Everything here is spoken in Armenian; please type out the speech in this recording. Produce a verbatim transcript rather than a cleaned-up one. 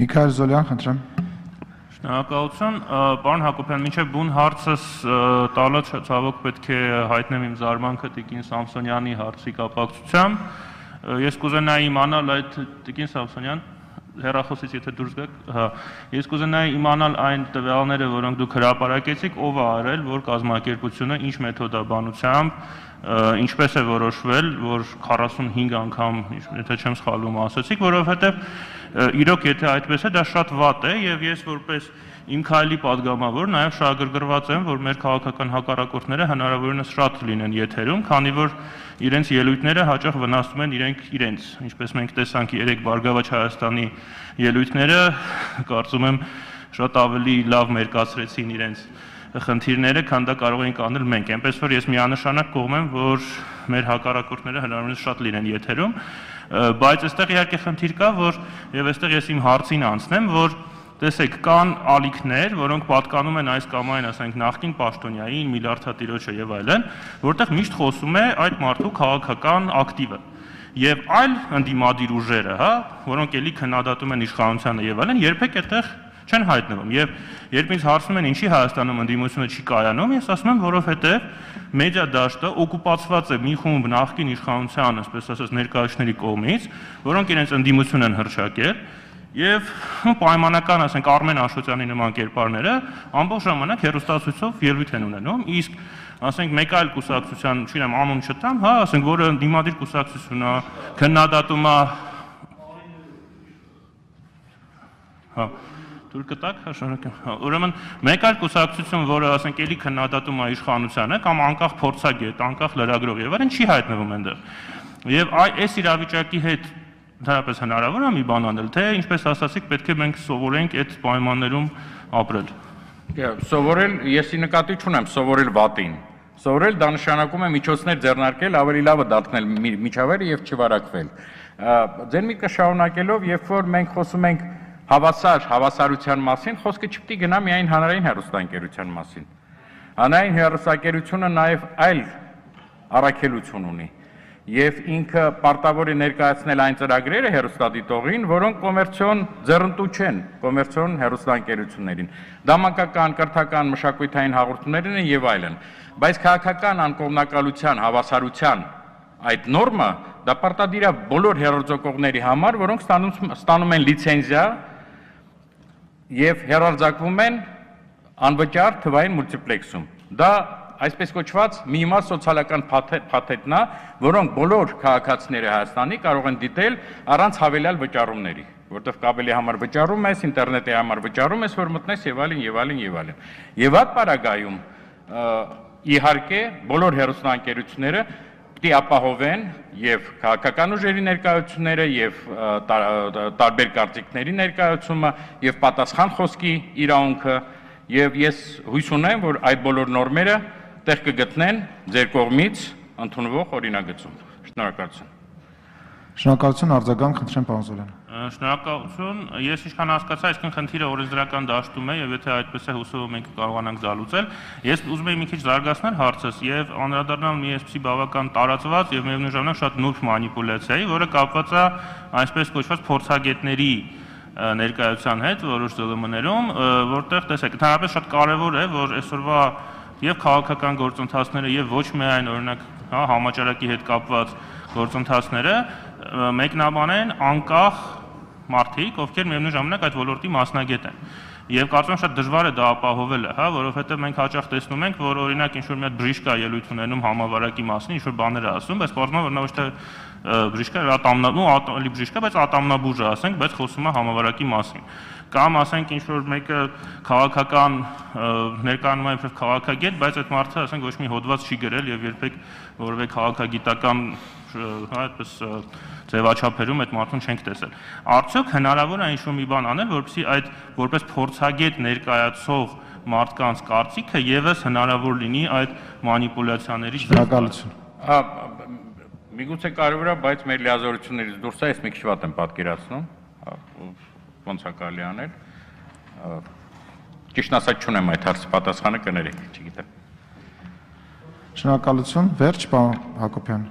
Միքայել Զոլյան, խնդրեմ։ Շնորհակալություն, պարոն Հակոբյան, մինչև բուն հարցս տալը ցավոք պետք է հայտնեմ իմ զարմանքը Տիկին Սամսոնյանի հարցի կապակցությամբ։ Ես կուզենայի իմանալ այդ Տիկին Սամսոնյան, հեռախոսից եթե դուրս գաք, հա, ես կուզենայի իմանալ այն տվյալները, որոնք դուք հրապարակեցիք, ով է արել, որ կազմակերպությունը ինչ մեթոդաբանությամբ, ինչպես է որոշվել, որ քառասունհինգ անգամ, եթե չեմ սխալվում, ասացիք, որովհետև իրոք եթե այդպես է, դա շատ վատ է, եւ ես որպես իմ քայլի падգամավոր նաեւ շահագրգռված եմ, որ մեր քաղաքական հակառակորդները հնարավորինս շատ լինեն եթերում, քանի որ իրենց ելույթները հաճախ վնասում են իրենք իրենց, ինչպես մենք տեսանք երեք Բարգավաճ Հայաստանի ելույթները, կարծում եմ շատ ավելի լավ մերկացրեցին իրենց խնդիրները, քան դա կարող ենք անել մենք, այնպես որ ես միանշանակ կողմ եմ, որ մեր հակառակորդները հնարավորինս շատ լինեն եթերում, բայց այստեղ իհարկե խնդիր կա, որ եւ այստեղ ես իմ հարցին անցնեմ, որ տեսեք, կան ալիքներ, որոնք պատկանում են այս կամ այն, ասենք, նախկին պաշտոնյային, միլիարդատիրոջը եւ այլն, որտեղ միշտ խոսում է այդ մարդու քաղաքական ակտիվը։ Եվ այլ ընդդիմադիր ուժերը, հա, որոնք էլի քննադատում են իշխանությանը եւ այլն, երբեք այդտեղ չեն հայտնվում։ Եվ երբ ինձ հարցնում են ինչի Հայաստանում ընդդիմությունը չի կայանում, ես ասում եմ, որովհետեւ մեդիա դաշտը օկուպացված է մի խումբ նախկին իշխանության, այսպես ասած, ներկայացների կողմից, որոնք իրենց ընդդիմություն են հռչակել, եւ պայմանական, ասենք, Արմեն Աշոտյանի նման կերպարները ամբողջ ժամանակ հեռուստացույցով ելույթ են ունենում, իսկ ասենք մեկ այլ կուսակցության, չգիտեմ, անուն չտամ, հա, ասենք, որը ընդդիմադիր կուսակցություն է, քննադատում է, հա, դուր կտակ, հա, շնորհակալ։ Ուրեմն մեկ այլ կուսակցություն, որը ասենք էլի քննադատում է իշխանությանը, կամ անկախ փորձագետ, անկախ լրագրող եւ այլն, չի հայտնվում այնտեղ։ Եվ այս իրավիճակի հետ դարապես հնարավոր է մի բան անել, թե ինչպես ասացիք, պետք է մենք սովորենք այդ պայմաններում ապրել։ Սովորել, եսի նկատի չունեմ, սովորել վատին։ Սովորել դա նշանակում է միջոցներ ձեռնարկել, ավելի լավը դարձնել միջավայրը եւ չվարակվել։ Ձեր միտքը շարունակելով, երբ որ մենք խոսում ենք հավասար հավասարության մասին, խոսքը չպետք է գնա միայն հանրային հեռուստաընկերության մասին։ Հանրային հեռուստաընկերությունը նաեւ այլ առաքելություն ունի։ Եվ ինքը պարտավոր է ներկայացնել այն ծրագրերը հեռուստադիտողին, որոնք կոմերցիոն ձեռնտու չեն, կոմերցիոն հեռուստաընկերություններին։ Դա մանկական, կրթական, մշակութային հաղորդումներ են եւ այլն։ Բայց քաղաքական անկողմնակալության, հավասարության այդ նորմը դա պարտադիր է բոլոր հեռարձակողների համար, որոնք ստանում ստանում են լիցենզիա եւ հեռարձակվում են անվճար թվային մուլտիպլեքսում։ Դա այսպես կոչված մի իմաստ սոցիալական փաթեթն է, որոնք բոլոր քաղաքացիները Հայաստանի կարող են դիտել առանց հավելյալ վճարումների, որտեղ կաբելի համար վճարում ես, ինտերնետի համար վճարում ես, որ մտնես եւ այլն եւ այլն եւ այլն։ Եվ այդ պարագայում իհարկե բոլոր հեռուստաընկերությունները պիտի ապահովեն եւ քաղաքական ուժերի ներկայությունները եւ տարբեր կարծիքների ներկայացումը եւ պատասխան խոսքի իրավունքը եւ ես հույս ունեմ, որ այդ բոլոր նորմերը տեղ կգտնեն ձեր կողմից ընդունվող օրինագծում։ Շնորհակալություն։ Շնորհակալություն, արձագանք, խնդրեմ, պարոն Զոլյան։ Շնորհակալություն, ես ինչքան հասկացա, այսքան խնդիրը օրենսդրական դաշտում է եւ եթե այդպես է հուսով մենք կարողանանք զալուծել, ես ուզում եմ մի քիչ զարգացնել հարցս եւ անդրադառնալ մի այսպիսի բավական տարածված եւ միևնույն ժամանակ շատ նուրբ մանիպուլյացիայի, որը կապված է այսպես կոչված փորձագետների ներկայության հետ որոշ ԶԼՄ-ներում, որտեղ տեսեք, ընդհանրապես շատ կարեւոր է, որ այսօրվա եւ քաղաքական գործընթացները եւ ոչ միայն օրինակ, հա, համաճարակի հետ կապված գործընթացները մեկնաբանեն անկախ մարդիկ, ովքեր միևնույն ժամանակ այդ ոլորտի մասնագետ են։ Եվ կարծում եմ շատ դժվար է դա ապահովելը, հա, որովհետեւ մենք հաճախ տեսնում ենք, որ օրինակ ինչ-որ մի հատ բժիշկա ելույթ ունենում համավարակի մասին, ինչ-որ բաներ է ասում, բայց պարզվում է, որ նա ոչ թե բժիշկա, ատամնաբու, ատամնալի բժիշկա, բայց ատամնաբուժ է, ասենք, բայց խոսում է համավարակի մասին։ Կամ ասենք ինչ-որ մեկը քաղաքական ներկայանում է որպես քաղաքագետ, բայց այդ մարդը, ասենք, ոչ մի հոդված չի գրել եւ երբեք որևէ քաղաքագիտական, հա, այդպես ձևաչափերում այդ մարդուն չենք տեսել։ Արդյոք հնարավոր է ինչ-որ մի բան անել, որպեսզի այդ որպես փորձագետ ներկայացող մարդկանց կարծիքը եւս հնարավոր լինի այդ մանիպուլյացիաներից Շնորհակալություն։ Միգուցե կարևոր է, բայց մեր լիազորություններից դուրս է, ես մի քիչ վատ եմ պատկերացնում, ոնց է կարելի անել։ Ճիշտ ասած չունեմ այդ հարցի պատասխանը, կներեք, չգիտեմ։ Շնորհակալություն, վերջ, պարոն Հակոբյան։